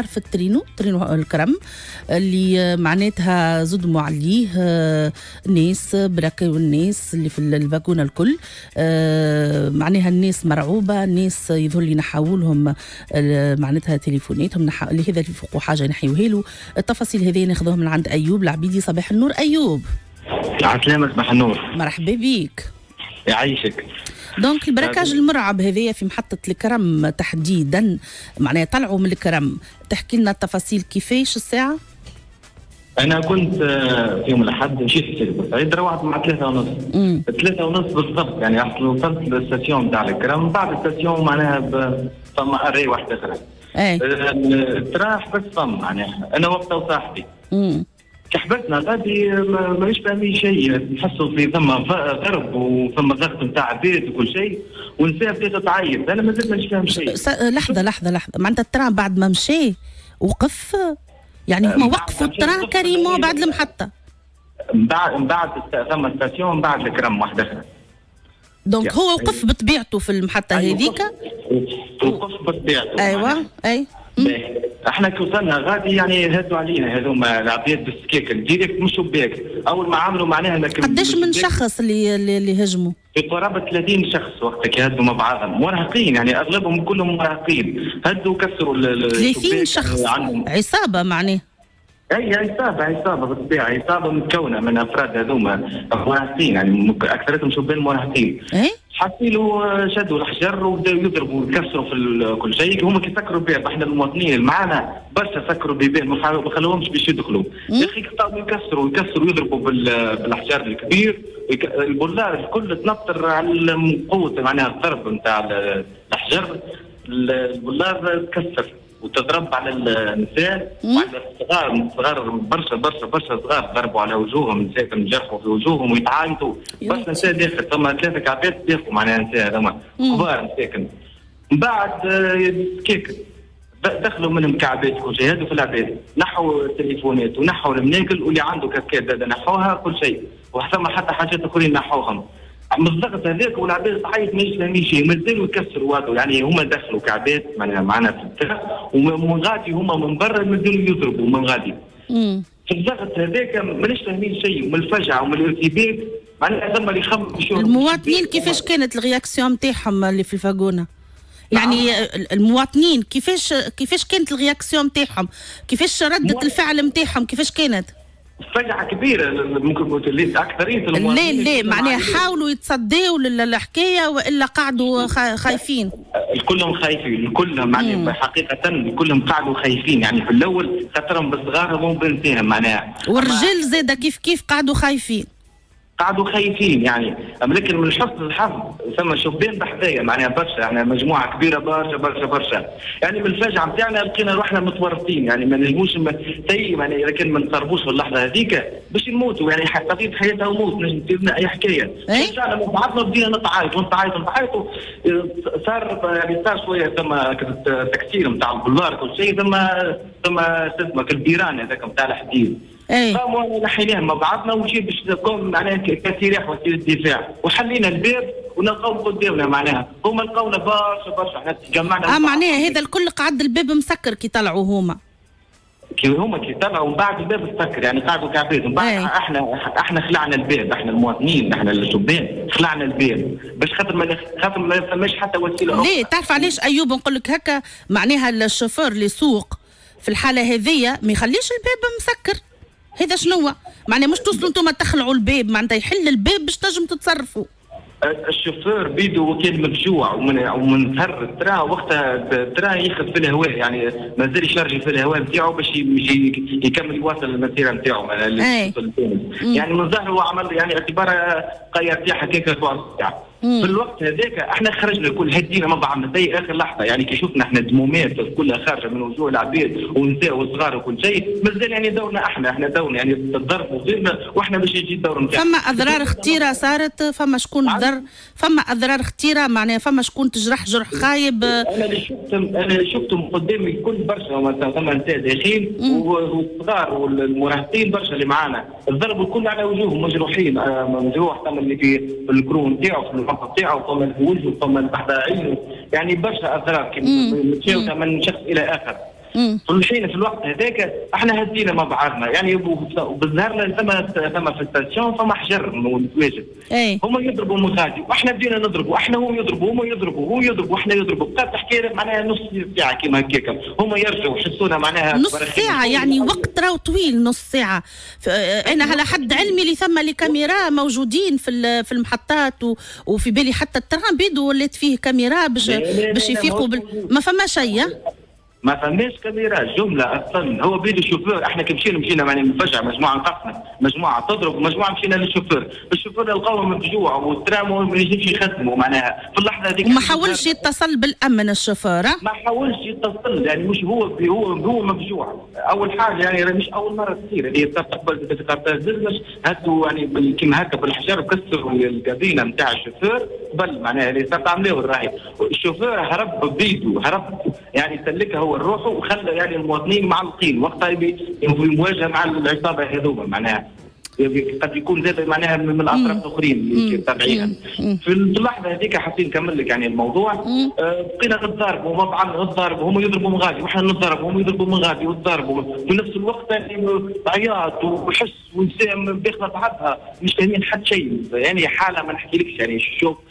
صار في الترينو، ترينو الكرم اللي معناتها زدموا عليه ناس براكوا الناس اللي في ال wagon الكل، معناها الناس مرعوبه، الناس يظهر لي نحاولهم معناتها تليفوناتهم، اللي هذا اللي فوقوا حاجة ينحيوها له. التفاصيل هذه ناخذوها من عند ايوب العبيدي. صباح النور ايوب. عسلامة، صباح النور. مرحبا بيك. يعيشك. donc ال braquage المرعب هذايا في محطة الكرم تحديدا، معناها طلعوا من الكرم، تحكي لنا التفاصيل كيفاش الساعة؟ أنا كنت في يوم الأحد مشيت لسيدي بورسعيد، روحت مع 3:30. 3:30 بالضبط، يعني وصلت لل station تاع الكرم، بعد ال station معناها فما arrêt واحدة أخرى. ال train حبس فم معناها، أنا وقتها وصاحبي. كحبتنا غادي مانيش فاهمين شيء، نحسوا في ثم ضرب وثم ضغط نتاع عباد وكل شيء، والنساء بدات تعيط، انا مازلت مانيش فاهم شيء. لحظة لحظة لحظة، معناتها ال train بعد ما مشى وقف، يعني هما وقفوا ال train carrément بعد المحطة. من بعد ثم station، من بعد الكرم واحدة اخرى. donc هو وقف بطبيعته في المحطة هذيك؟ وقف بطبيعته. ايوه اي. احنا كي وصلنا غادي يعني هدوا علينا هذوما العباد بالسكاكن direct، مش شباك، اول ما عملوا معناها. قداش من شخص اللي هجموا؟ في قرابة 30 شخص وقتها كي هدوا مع بعضهم، مراهقين يعني اغلبهم كلهم مراهقين، هدوا كسروا 30 شخص عصابة معناها. اي عصابة، عصابة بالطبيعة، عصابة متكونه من افراد هذوما مراهقين، يعني اكثرتهم شبان مراهقين. اي حصيلوا شدوا الحجر وبداوا يضربوا ويكسروا في كل شيء. هما كي سكروا الباب، احنا المواطنين اللي معانا برشا سكروا البيبان، ما خلوهمش باش يدخلوا. يا اخي قطعوا يكسروا يكسروا يضربوا بالحجر الكبير، البولار الكل تنطر على قوة معناها الضرب نتاع الحجر، البولار تكسر وتضرب على النساء وعلى الصغار، الصغار برشا برشا برشا صغار ضربوا على وجوههم، نساء جرحوا في وجوههم ويتعايطوا، برشا نساء داخل، ثم 3 كعبات داخلوا معناها نساء هذوما كبار مساكن. من بعد كيك دخلوا منهم كعبات كل شيء، هذو في العباد نحوا التليفونات ونحوا المناكل، واللي عنده كاسكات زاد نحوها كل شيء، وثم حتى حاجات اخرين نحوهم. من الضغط هذاك والعباد تعيط ماهيش فاهمين شيء، مازالوا يكسروا هذو، يعني هما دخلوا كعبات معنا في ال train، ومن غادي هما من برا مازالوا يضربوا من غادي. في الضغط هذاك ماناش فاهمين شيء، ومن الفجعه ومن الارتباك معناها ثم اللي يخمم. المواطنين كيفاش كانت ال réaction نتاعهم اللي في ال wagon؟ يعني المواطنين كيفاش كانت ال réaction نتاعهم؟ كيفاش ردة الفعل نتاعهم كيفاش كانت؟ فجعة كبيرة ممكن أكثرية المواطنين. لا لا معناها حاولوا يتصدوا للحكاية وإلا قعدوا خايفين؟ الكلهم خايفين، الكلهم يعني حقيقة الكلهم قعدوا خايفين، يعني في الأول خاطرهم بالصغار وبنساهم معناها. والرجال زادة كيف كيف قعدوا خايفين؟ قعدوا خايفين يعني، لكن من حسن الحظ ثم شبان بحذايا معناها برشا، يعني مجموعة كبيرة برشا برشا برشا، يعني من الفجعه نتاعنا لقينا روحنا متورطين، يعني ما نجموش يعني لكن ما نقربوش في اللحظة هذيك باش نموتوا، يعني قضية حياتها وموت، نجم تصير لنا اي حكاية. رجعنا مع بعضنا بدينا نتعايط ونتعايط ونتعايط، صار يعني صار شوية ثم تكسير نتاع البلار كل شيء، ثم اسمه البيران هذاك نتاع الحديد. قاموا نحيناهم مع بعضنا ومشي باش تكون معناها كسلاح وسيلة دفاع، وحلينا الباب ونلقاو قدامنا معناها، هما لقاونا برشا برشا، احنا تجمعنا. معناها هذا الكل قعد الباب مسكر كي طلعوا هما. كي طلعوا ومن بعد الباب مسكر، يعني قعدوا كعباد، ومن بعد احنا خلعنا الباب، احنا المواطنين، احنا الشبان خلعنا الباب باش خاطر ما فماش حتى وسيلة اخرى. ليه تعرف علاش ايوب نقول لك هكا؟ معناها الشوفور اللي يسوق في الحالة هذيا ما يخليش الباب مسكر. هذا شنو؟ معناها مش توصلوا انتم تخلعوا الباب، معناتها يحل الباب باش تنجم تتصرفوا. الشوفور بيدو كان مفجوع ومن ظهر ال train وقتها ال train ياخذ في الهواء، يعني مازال يشارجي في الهواء نتاعو باش يكمل يواصل المسيرة نتاعو. يعني من ظهره عمل يعني اعتبارها قير هكاك ساعة. في الوقت هذاك احنا خرجنا الكل هدينا مع بعضنا زي اخر لحظة، يعني كي شفنا احنا دمومات كلها خارجه من وجوه العباد ونساء وصغار وكل شيء، مازال يعني دورنا احنا دورنا يعني الضرب وغيرنا، واحنا باش يجي الدور نتاعنا. فما اضرار خطيرة صارت، فما شكون ضر، فما اضرار خطيرة معناها فما شكون تجرح جرح خايب. انا اللي شفتهم قدامي الكل برشا، ثم نساء داخلين والصغار والمراهقين برشا اللي معانا، الضرب الكل على وجوههم مجروحين، مجروح ثم اللي في الكرون نتاعو في نتاعو، فما في وجهه، فما تحت عينه، يعني برشا اضرار متشابكه من شخص الى اخر. في الحين في الوقت هذاك احنا هدينا مع بعضنا يعني، بالظهر ثم في ال station فما حجر متواجد، هما يضربوا من غادي واحنا بدينا نضربوا، احنا هم يضربوا، هما يضربوا، هو يضرب واحنا يضربوا. بقات الحكاية معناها نص ساعة كيما هكاك، هما يرجعوا يحسونا معناها نص ساعة، يعني وقت راهو طويل نص ساعة. انا على حد علمي اللي ثم les caméras موجودين في المحطات، وفي بالي حتى ال train بيدو ولات فيه كاميرا باش يفيقوا ما فما شيء، ما فماش كاميرا جملة اصلا. هو بيد الشوفير، احنا كي مشينا معناها مفجع، مجموعة انقسمت، مجموعة تضرب ومجموعة مشينا لل chauffeur، ال chauffeur لقاوه مفجوع وال train ما ينجمش يخدموا معناها في اللحظة هذيك. وما حاولش يتصل بالامن الشوفير؟ ما حاولش يتصل، يعني مش هو هو مفجوع. اول حاجة يعني مش اول مرة تصير اللي قبل في قرطاج دزمش هاتوا يعني كيما هكا بالحجر كسروا الكابينه نتاع الشوفير قبل معناها اللي صارت عملوه الراهي. الشوفير هرب بيده، هرب يعني سلكها هو روحه وخلى يعني المواطنين معلقين وقتها في مواجهة مع العصابة هذوما معناها، قد يكون زاد معناها من الاطراف الاخرين اللي تابعينها. في اللحظة هذيك حسين نكمل لك يعني الموضوع، بقينا نتضاربوا مع بعض، نتضاربوا، هم يضربوا من غادي وحنا نتضاربوا، هم يضربوا من غادي وتضاربوا في نفس الوقت، يعني عياط وحس ونساء داخله بعضها مش فاهمين حتى شيء، يعني حاله ما نحكيلكش، يعني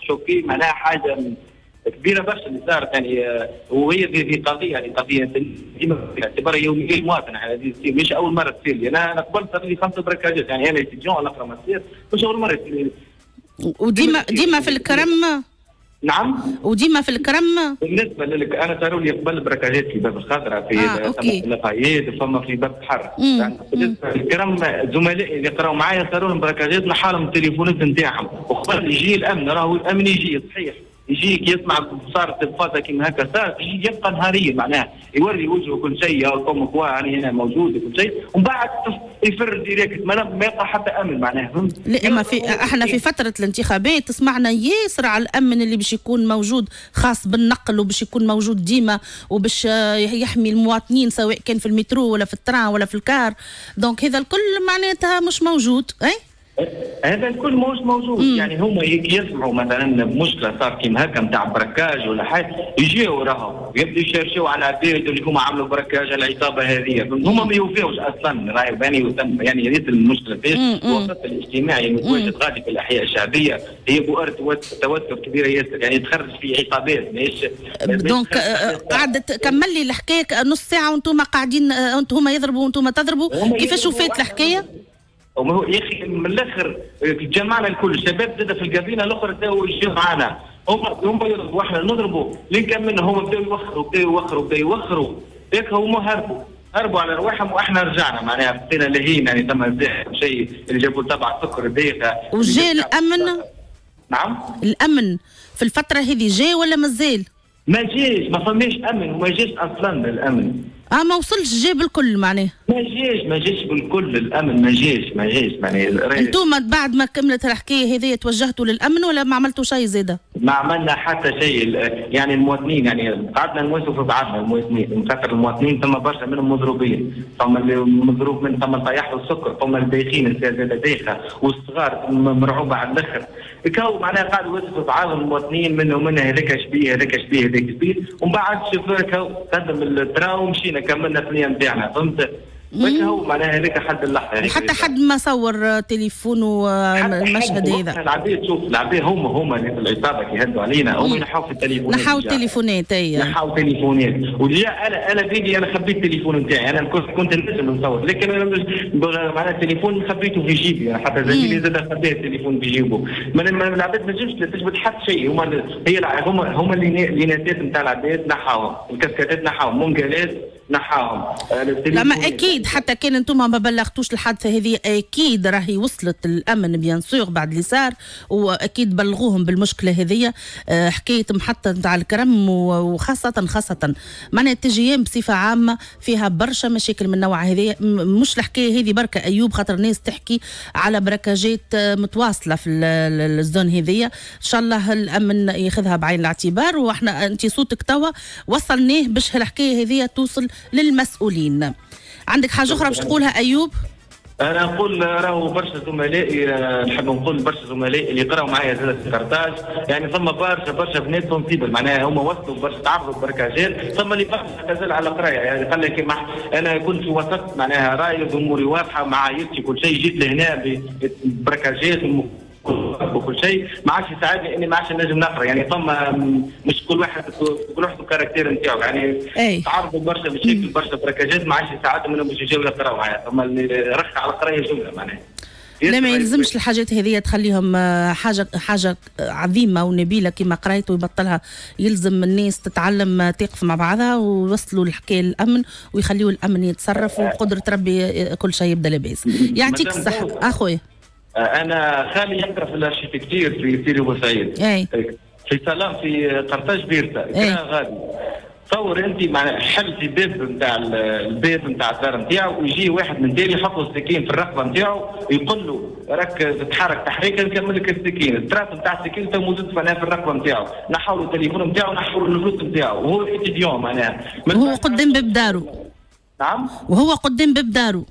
choqué معناها حاجة كبيرة برشا اللي صارت يعني. وهي في قضية يعني قضية ديما باعتبارها يومية المواطن، يعني مش اول مرة تصير لي. انا قبل صار لي 5 braquage ات، يعني انا étudiant نقرا ماستير، مش اول مرة تصير لي. وديما ديما في الكرم؟ نعم، وديما في الكرم. بالنسبة لك انا صاروا لي قبل braquage ات في باب الخضراء، في لافايت، فما في باب البحر. يعني بالنسبة للكرم زملائي اللي قراوا معايا صاروا لهم braquage ات، نحالهم التليفونات نتاعهم، وقبل يجي الامن، راهو الامن يجي صحيح، يجيك يسمع صارت الفازة كيما هكا صارت، يجي يبقى نهاريا معناها يوري وجهه كل شيء، comme quoi يعني هنا موجود وكل شيء، ومن بعد يفر direct، ما يبقى حتى امن معناها. لا ما في احنا في فترة الانتخابات سمعنا ياسر على الامن اللي باش يكون موجود خاص بالنقل، وباش يكون موجود ديما، وباش يحمي المواطنين سواء كان في المترو ولا في ال train ولا في ال car، donc هذا الكل معناتها مش موجود. اي هذا الكل مش موجود. يعني هما يسمعوا مثلا مشكلة صار كيما هكا نتاع braquage ولا حاجة، يجيو راهو يبداو يشرشوا على العباد اللي هما عملوا braquage على العصابة هذه، هما ما يوفيوش اصلا راهي يعني يا ريت المشكلة فيش. الوسط الاجتماعي المتواجد غادي في الاحياء الشعبية هي بؤرة توتر كبيرة ياسر، يعني تخرج في عصابات ماهيش. donc قعدت كمل لي الحكاية نص ساعة وانتم قاعدين، انتم يضربوا وانتم تضربوا، كيفاش وفات الحكاية؟ وما هو يا اخي من الاخر جمعنا الكل، الشباب زاد في الكابينه الاخرى بداوا يجيو معنا، هما يضربوا واحنا نضربوا، لين كملنا هما بداوا يوخروا بداوا يوخروا بداوا يوخروا، هيك هما هربوا على رواحهم واحنا رجعنا معناها بقينا لاهين، يعني ثم شيء اللي جابوا تبع سكر ديخه. وجا الامن؟ نعم، الامن في الفترة هذه جا ولا مازال؟ ما جاش، ما فماش امن وما جاش اصلا الامن. ما وصلش جا بالكل معناه؟ ما جاش بالكل الامن، ما جاش معناها. انتم بعد ما كملت الحكاية هذه توجهتوا للامن ولا ما عملتوا شيء زاده؟ ما عملنا حتى شيء، يعني المواطنين يعني قعدنا نواسوا في بعضنا المواطنين، خاطر المواطنين ثم برشا منهم مضروبين، ثم اللي مضروب من ثم طيح له السكر، ثم الدايخين زاده دايخه، والصغار مرعوبه على الاخر، كاو معناها قعدوا يواسوا في بعضهم المواطنين منه منه هذاك شبيه هذاك شبيه هذاك شبيه، ومن بعد شوفوا قدم ال train ومشينا كملنا الثنية نتاعنا، فهمت؟ هو معناها هذاك حد اللحظة. حتى حد ما صور تليفونه المشهد هذا. العباد شوف العباد هما اللي في العصابة كي هدوا علينا هما ينحوا في التليفونات. نحاو التليفونات اي. نحاو التليفونات، وجاء انا بيدي انا خبيت التليفون نتاعي، انا كنت نجم نصور، لكن انا معناها التليفون خبيته في جيبي، حتى زميلي زاد خبيت التليفون في جيبه. العباد ما تنجمش تثبت حتى شيء، هما اللي نادات نتاع العباد نحاوهم، الكاسكاتات نحاوهم، منقلات نحاهم. لا ما اكيد حتى كان انتم ما بلغتوش الحادثة هذه اكيد راهي وصلت الامن bien sûr بعد اللي صار، واكيد بلغوهم بالمشكلة هذه. حكاية محطة نتاع الكرم وخاصة خاصة معناها ال TGM بصفة عامة فيها برشا مشاكل من النوع هذه، مش الحكاية هذه بركة ايوب، خاطر الناس تحكي على braquage ات متواصلة في ال zone هذه. ان شاء الله الامن ياخذها بعين الاعتبار، واحنا انت صوتك توا وصلناه باش الحكاية هذه توصل للمسؤولين. عندك حاجة أخرى باش تقولها أيوب؟ انا نقول راهو برشا زملائي، نحب نقول برشا زملائي اللي قراوا معايا زاد في قرطاج، يعني ثم برشا برشا بنات sensibles، معناها هما وصلوا برشا تعرضوا ل braquage ات، ثم اللي برشا اعتزل على القراية، يعني قال لك انا كنت في وسط معناها رايد اموري واضحة مع عائلتي كل شيء، جيت لهنا braquage ات وكل شيء ما عادش يساعدني اني ما عادش نجم نقرا، يعني ثم مش كل واحد كل واحد ال caractère نتاعو، يعني تعرضوا برشا مشاكل برشا braquage ات ما عادش يساعدهم انهم باش يجيو يقراوا معايا، ثم اللي رخ على القراية جملة معناها. لا ما يلزمش الحاجات هذه تخليهم حاجة عظيمة ونبيله كما قرايته ويبطلها. يلزم الناس تتعلم تقف مع بعضها ويوصلوا الحكاية للامن ويخليوا الامن يتصرف، وبقدره ربي كل شيء يبدا لاباس. يعطيك الصحة اخويا. انا خالي يقرا في l'architecture في سيدي بوسعيد، في سلام في قرطاج بيرتا، كان غادي تصور انت مع حل في باب نتاع الباب نتاع الدار نتاعو، ويجي واحد من تالي يحط السكين في الرقبة نتاعو، يقول له راك تتحرك تحريكا نكمل لك السكين، ال trace نتاع السكين تو موجود معناها في الرقبة نتاعو، نحاولوا التليفون نتاعو، نحاولوا الفلوس نتاعو، وهو étudiant معناها. وهو قدام باب دارو. نعم، وهو قدام باب دارو،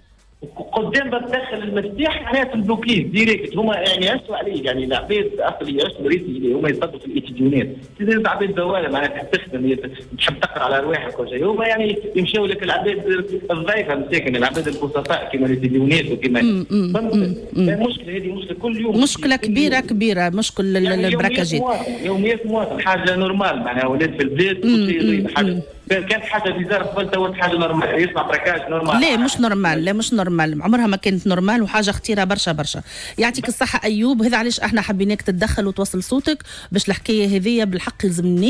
قدام باب دخل المفتاح معناها تبلوكيه direct. هما يعني يعسوا عليه، يعني العباد اصلا يعسوا ريسي هما يصدوا في ال étudiant ات، عباد زواله معناها تحب تخدم تحب تقرا على رواحك وكل شيء، هما يعني يمشيو لك العباد الضعيفة مساكن، العباد البسطاء كما ال étudiant ات وكما المشكلة هذه مشكلة كل يوم، مشكلة كبيرة كبيرة، مشكل يعني ال braquage ات يوميات مواطن حاجة normale معناها ولات في البلاد كل شيء حاجة كانت حاجة bizarre قبل، تو حاجة normale، يسمع braquage normal. لا مش normal، لا مش normal، عمرها ما كانت normale، وحاجه خطيرة برشا برشا. يعطيك الصحة ايوب، هذا علاش احنا حبيناك تتدخل وتوصل صوتك باش الحكاية هذيا بالحق يلزم